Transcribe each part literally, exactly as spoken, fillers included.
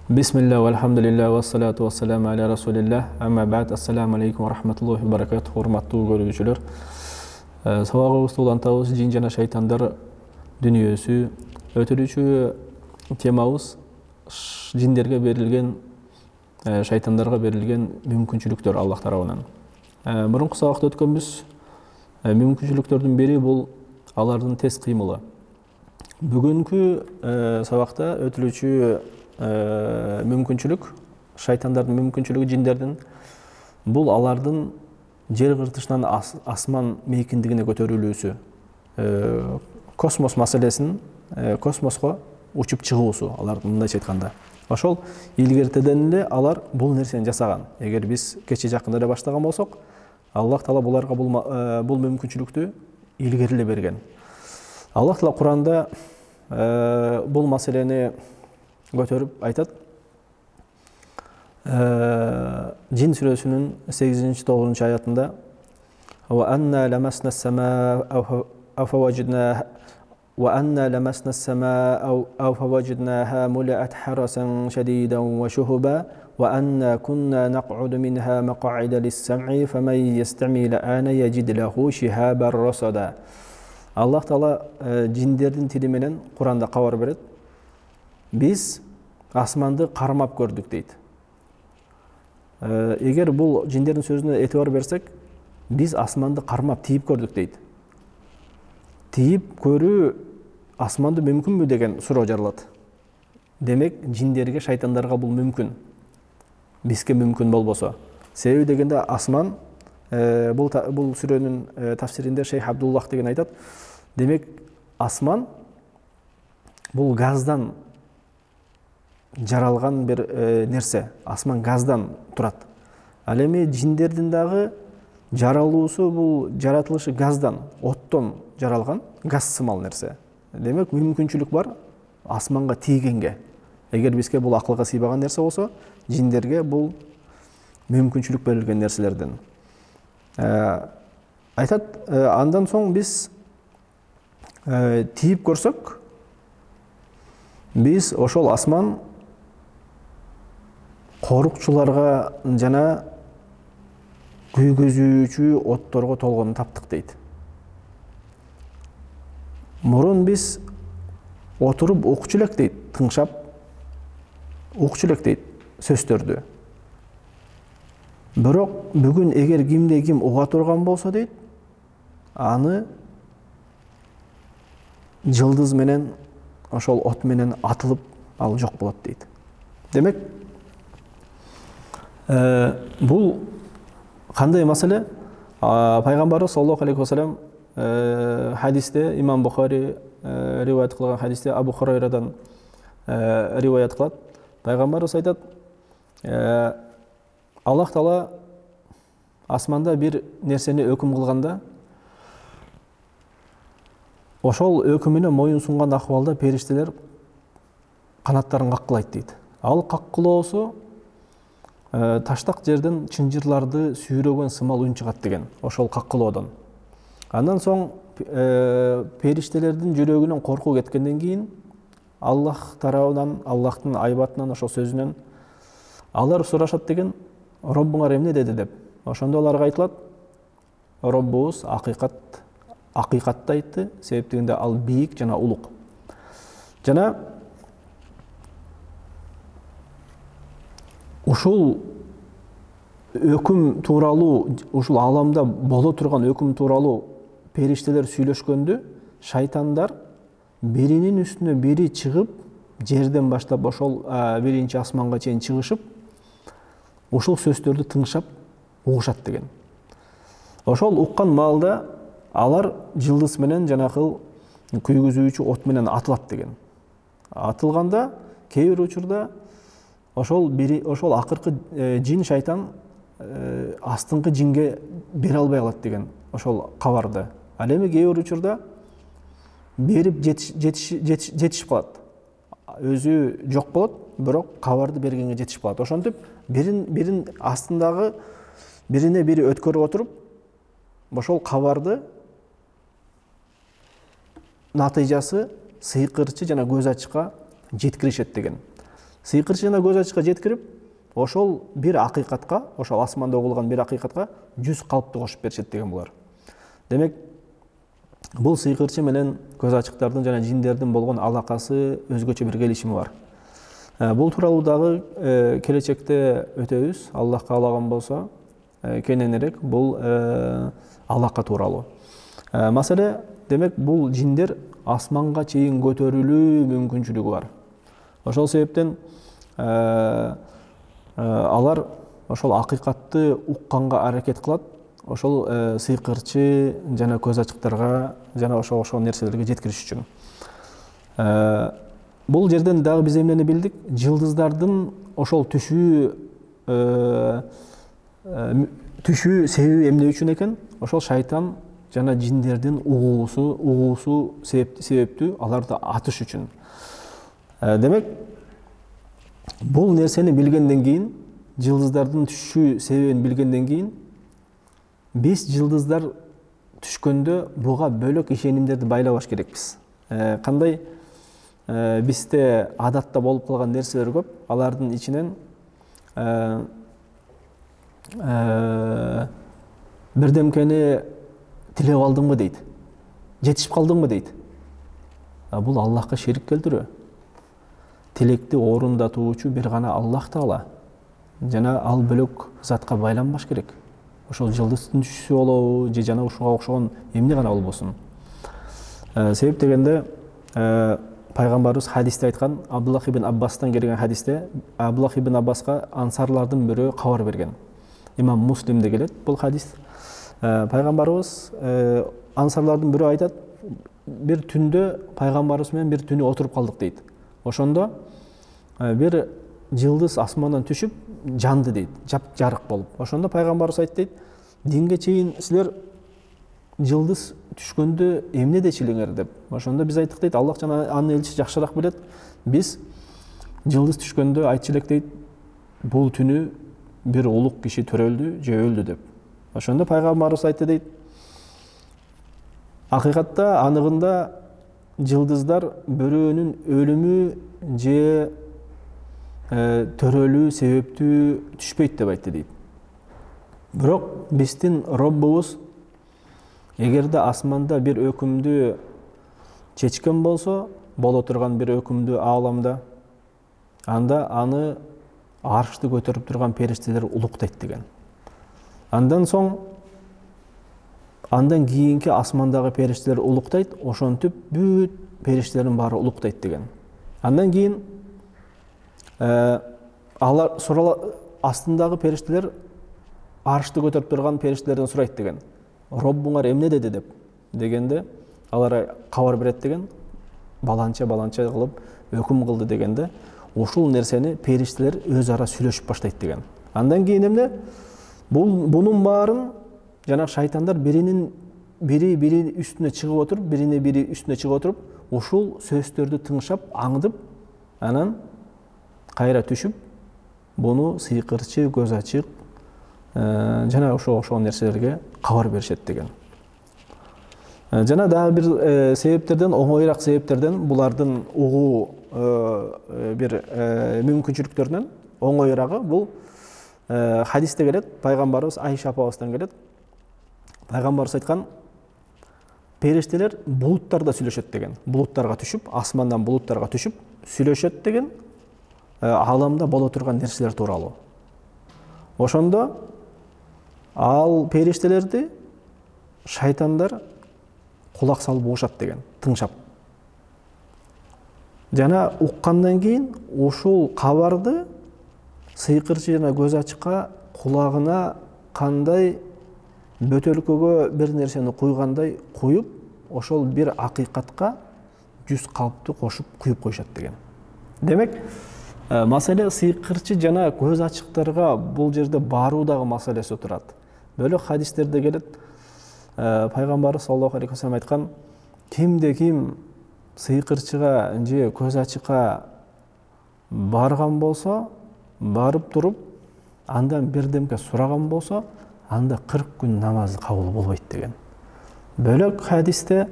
Бисмилля, вальхамдулилля, вассалату вассаламу аля расулилля, амма ба'д, ассаламу алейкум, рахматуллахи ва баракатуху, урматтуу көрүүчүлөр. Сабагыбызды улантабыз, жин жана шайтандар дүнүйөсү. Өтүрүүчү темабыз жиндерге берилген, шайтандарга берилген мүмкүнчүлүктөр Аллах тарабынан. Мурунку сабакта өткөнбүз, мүмкүнчүлүктөрдүн бири бул алардын тез кыймылы. Бүгүнкү сабакта өтүлүүчү мүмкүнчүлүк, шайтандардын мүмкүнчүлүгү, жиндердин, бул алардын жер кыртышынан асман мейкиндигине көтөрүлүүсү, космос маселесин, космоско учуп чыгуусу, алардын мындайча айтканда. Ошол илгертеден эле алар бул нерсени жасаган. Эгер биз кече жакында эле баштаган болсок, Аллах Таала буларга бул мүмкүнчүлүктү илгери эле берген. Аллах Таала Куранда бул маселени көтөрүп айтат. Жин сүрөсүнүн сегизинчи тогузунчу аятында: "Ва анна ламасна as-samaa aw fawajadnaha wa anna lamasna as-samaa aw fawajadnaha mula'at harasan shadidan wa shuhuba wa anna kunna naq'udu minha maq'ida lis-sam'i faman yastami' al-ana yajid lahu shihaban rasada." Аллах Таала жиндердин тили менен Куранда кабар берет. Биз асманды кармап көрдүк дейт. Эгер бул жиндердин сөзүнө этибар берсек, биз асманды кармап тийип көрдүк дейт. Тийип көрүү асманды мүмкүнбү деген суроо жаралат. Демек, жиндерге, шайтандарга бул мүмкүн. Бизге мүмкүн болбосо. Себеби дегенде асман, бул бул сүрөнүн тафсиринде Шейх Абдуллах деген айтат. Демек, асман бул газдан жаралган бир нерсе. Асман газдан турат. Ал эми жиндердин дагы жаралуусу, бул жаратылышы газдан, оттон жаралган, газ сымал нерсе. Демек, мүмкүнчүлүк бар асманга тийгенге. Эгер бизге бул акылга сыйбаган нерсе болсо, жиндерге бул мүмкүнчүлүк берилген нерселерден. Айтат, андан соң биз тийип көрсөк, биз ошол асман корукчуларга жана күйгөзүүчү отторго толгонун таптык дейт. Мурун биз отуруп укчу элек дейт, тыңшап укчу элек дейт сөздөрдү. Бирок бүгүн эгер кимде ким уга турган болсо дейт, аны жылдыз менен, ошол от менен атылып ал жок болот дейт. Демек, бул кандай маселе? Пайгамбарыбыз саллаллаху алейхи ва саллям хадисте, имам Бухари риваят кылган хадисте Абу Хурайрадан риваят кылат. Пайгамбарыбыз айтат: Аллах Таала асманда бир нерсени өкүм кылганда, ошол өкүмүнө моюн сунган акыбалда периштелер канаттарын каккылайт дейт. Ал каккылоосу таштак жерден чынжырларды сүйрөгөн сымал үн чыгат деген, ошол каккылоодон. Андан соң периштелердин жүрөгүнөн коркуу кеткенден кийин Аллах тарабынан, Аллахтын айбатынан, ошол сөзүнөн алар сурашат деген: Роббуңар эмне деди деп. Ошондо аларга айтылат: Роббубуз акыйкат акыйкатты айтты, себептигинде ал бийик жана улук. Жана ушул өкүм тууралуу, ушул аламда боло турган өкүм тууралуу периштелер сүйлөшкөндө, шайтандар биринин үстүнө бири чыгып, жерден баштап ошол биринчи асманга чейин чыгышып, ушул сөздөрдү тыңшап угушат деген. Ошол уккан маалда алар жылдыз менен, жанакыл күйгүзүүчү от менен атылат деген. Атылганда кээ бир учурда ошол бири ошол акыркы жин, шайтан астыңкы жинге бере албай калат деген ошол кабарды. Ал эми кээ бир учурда берип жетишип калат. Өзү жок болот, бирок кабарды бергенге жетишип калат. Ошентип бирин бирин астындагы бирине бири өткөрүп отуруп, ошол кабарды натыйжасы сыйкырчы жана көз ачыкка жеткиришет деген. Сыйкырчы жана көз ачыкка жеткирип, ошол бир акыйкатка, ошол асманда угулган бир акыйкатка жүз калпты кошуп беришет деген булар. Демек, бул сыйкырчы менен көз ачыктардын жана жиндердин болгон алакасы өзгөчө бир келишими бар. Бул тууралуу дагы келечекте өтөбүз, Аллах каалаган болсо, кененирээк бул алака тууралуу. Маселе, демек, бул жиндер асманга чейин көтөрүлүү мүмкүнчүлүгү бар. Ошол себептен алар ошол акыйкатты укканга аракет кылат, ошол сыйкырчы жана көз ачыктарга жана ошол ошол нерселерге жеткириш үчүн. Бул жерден дагы биз эмнени билдик? Жылдыздардын ошол түшүү түшүү себеби эмне үчүн экен? Ошол шайтан жана жиндердин угуусу, угуусу себептүү аларды атыш үчүн. Демек, бул нерсени билгенден кийин, жылдыздардын түшүү себебин билгенден кийин, биз жылдыздар түшкөндө буга бөлөк ишенимдерди байлабаш керекпиз. Кандай бизде адатта болуп калган нерселер көп, алардын ичинен бирдемкени тилеп алдыңбы дейт, жетишип калдыңбы дейт. Бул Аллахка ширик келтирүү. Тилекти орундатуучу бир гана Аллах Таала. Жана ал бөлөк затка байланбаш керек. Ошол жылдыздын түшүүсү болобу, же жана ушуга окшогон эмне гана болбосун. Себеп дегенде, пайгамбарыбыз хадисте айткан, Абдуллах ибн Аббастан келген хадисте, Абдуллах ибн Аббаска ансарлардын бирөө кабар берген. Имам Муслимде келет бул хадис. Пайгамбарыбыз ансарлардын бирөө айтат, бир түндө пайгамбарыбыз менен бир түнү отуруп калдык дейт. Ошондо бир жылдыз асмандан түшүп жанды дейт, жап-жарык болуп. Ошондо пайгамбарыбыз айтты дейт, динге чейин силер жылдыз түшкөндө эмне дечилиңер деп. Ошондо биз айттык дейт, Аллах жана анын элчиси жакшыраак билет. Биз жылдыз түшкөндө айтчу элек дейт, бул түнү бир улук киши төрөлдү же өлдү деп. Ошондо пайгамбарыбыз айтты дейт, акыйкатта аныгында жылдыздар бирөөнүн өлүмү же төрөлүү себептүү түшпөйт деп айтты дейт. Бирок биздин Роббубуз эгерде асманда бир өкүмдү чечкен болсо, боло турган бир өкүмдү ааламда, анда аны аршты көтөрүп турган периштелер улуктайт деген. Андан соң, андан кийинки асмандагы периштелер улуктайт, ошентип бүт периштелердин баары улуктайт деген. Андан кийин алар астындагы периштелер аршты көтөрүп турган периштелерден сурайт деген. Роббуңар эмне деди деп дегенде, алар кабар берет деген, баланча баланча кылып өкүм кылды дегенде, ушул нерсени периштелер өз ара сүйлөшүп баштайт деген. Андан кийин эмне? Бул бунун баарын жана шайтандар биринин бири бири үстүнө чыгып отуруп, бирине бири үстүнө чыгып отуруп, ушул сөздөрдү тыңшап, аңдып, анан кайра түшүп, буну сыйкырчы, көз ачык жана ошо ошол нерселерге кабар беришет деген. Жана дагы бир себептерден, оңоюраак себептерден, булардын угуу бир мүмкүнчүлүктөрүнөн оңоюрагы бул хадисте келет, пайгамбарыбыз Айша апабыздан келет. Пайгамбарыбыз айткан, периштелер булуттарда сүйлөшөт деген. Булуттарга түшүп, асмандан булуттарга түшүп сүйлөшөт деген, ааламда боло турган нерселер тууралуу. Ошондо ал периштелерди шайтандар кулак салып угушат деген, тыңшап. Жана уккандан кийин ушул кабарды сыйкырчы жана көз ачыкка кулагына кандай бөтөлкөгө бир нерсени куйгандай куюп, ошол бир акыйкатка жүз калпты кошуп куюп коюшат деген. Демек, маселе сыйкырчы жана көз ачыктарга бул жерде баруудагы маселеси турат. Бөлөк хадистерде келет, пайгамбарыбыз саллаллаху алейхи ва саллям айткан, кимде ким сыйкырчыга же көз ачыкка барган болсо, барып туруп, андан бирдемке сураган болсо, анда кырк күн намазы кабыл болбойт деген. Бөлөк хадисте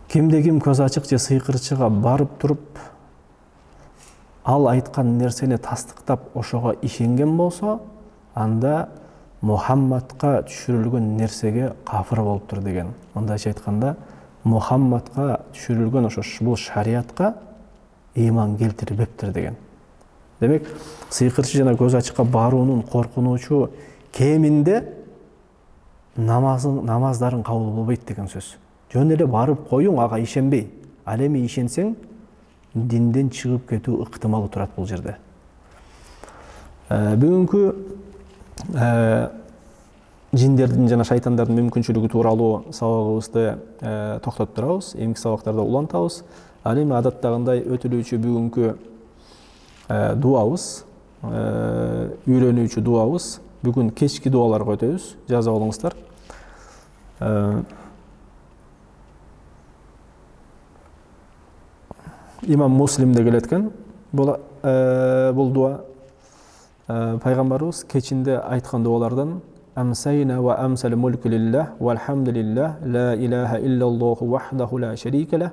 кимде ким көз ачык же сыйкырчыга барып туруп, ал айткан нерсени тастыктап ошого ишенген болсо, анда Мухаммадка түшүрүлгөн нерсеге кафыр болуптур деген. Мындайча айтканда, Мухаммадка түшүрүлгөн ошо бул шариатка ыйман келтирбептир деген. Демек, сыйкырчы жана көз ачыкка баруунун коркунучу кеминде намазын намаздарын кабыл болбойт деген сөз. Жөн эле барып коюң, ага ишенбей. Ал эми ишенсең, динден чыгып кетүү ыктымалы турат бул жерде. Бүгүнкү жиндердин жана шайтандардын мүмкүнчүлүгү тууралуу сабагыбызды токтотуп турабыз. Эмки сабактарда улантабыз. Ал эми адаттагындай өтүлүүчү бүгүнкү дуабыз, үйрөнүүчү дуабыз. Бүгүн кечки дуаларга өтөбүз. Жазып алыңыздар. Имам Муслимде келеткен бул бул дуа. Пайгамбарыбыз кечинде айткан дуалардан: Амсайна ва амсал мулку лиллах валхамдулиллах ла илаха иллаллаху вахдаху ла шарика лах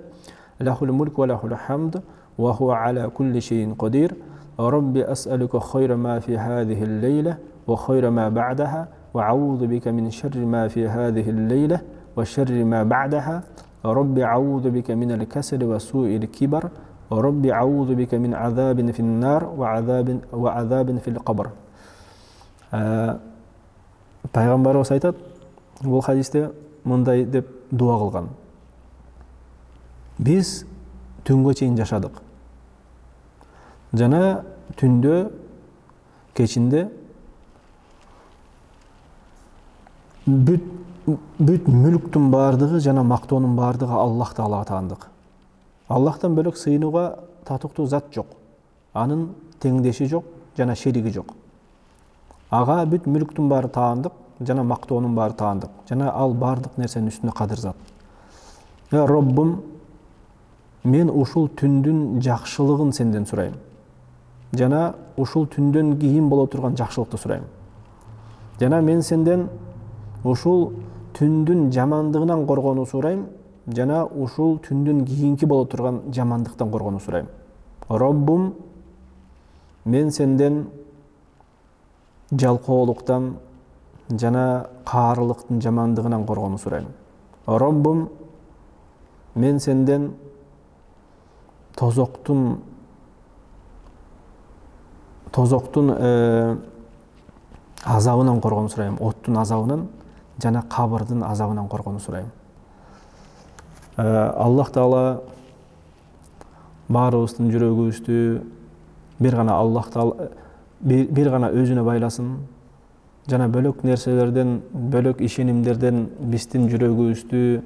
лахул мулку ва лахул хамд ва хува аля кулли шейин кадир. Rabbi as'aluka khayra ma fi hadhihi al-layla wa khayra ma ba'daha wa a'udhu bika min sharri ma fi hadhihi al-layla wa sharri ma ba'daha. Rabbi a'udhu bika min al-kasal wa su'i al-kibar. Rabbi a'udhu bika min 'adhabin fi an-nar wa 'adhabin wa 'adhabin fi al-qabr. Пайгамбарыбыз айтат, бул хадисте мындай деп дуа кылган: Биз түнгө чейин жашадык. Жана түндө, кечинде бүт бүт мүлктүн бардыгы жана мактоонун бардыгы Аллах Таалага таандык. Аллахтан бөлөк сыйынууга татыктуу зат жок. Анын теңдеши жок жана шериги жок. Ага бүт мүлктүн баары таандык, жана мактоонун баары таандык. Жана ал бардык нерсенин үстүнө кадыр зат. Я Роббум, мен ушул түндүн жакшылыгын сенден сурайм. Жана ушул түндөн кийин боло турган жакшылыкты сурайм. Жана мен сенден ушул түндүн жамандыгынан коргонуу сурайм. Жана ушул түндүн кийинки боло турган жамандыктан коргонуу сурайм. Роббум, мен сенден жалкоолуктан жана каарылыктын жамандыгынан коргонуу сурайм. Роббум, мен сенден тозоктун тозоктун азабынан коргонуу сурайм, оттун азабынан жана кабырдын азабынан коргонуу сурайм. Аллах Таала баарыбыздын жүрөгүбүздү бир гана Аллах Таала бир гана өзүнө байласын. Жана бөлөк нерселерден, бөлөк ишенимдерден биздин жүрөгүбүздү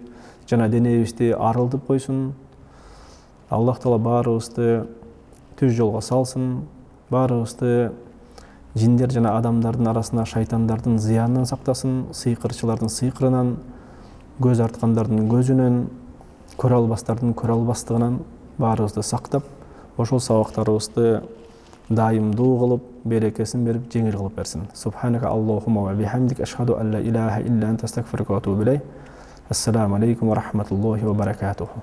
жана денебизди арылтып койсун. Аллах Таала баарыбызды түз жолго салсын. Баарыбызды жиндер жана адамдардын арасына шайтандардын зыянынан сактасын, сыйкырчылардын сыйкырынан, көз арткандардын көзүнөн, көрө албастардын көрө албастыгынан баарыбызды сактап, ошол сабактарыбызды дайымдуу кылып, берекесин берип, жеңил кылып берсин. Субханака Аллахумма ва бихамдик ашхаду алла илаха илля анта астагфирука ва атубу илейк. Ассаламу алейкум ва рахматуллахи ва баракатуху.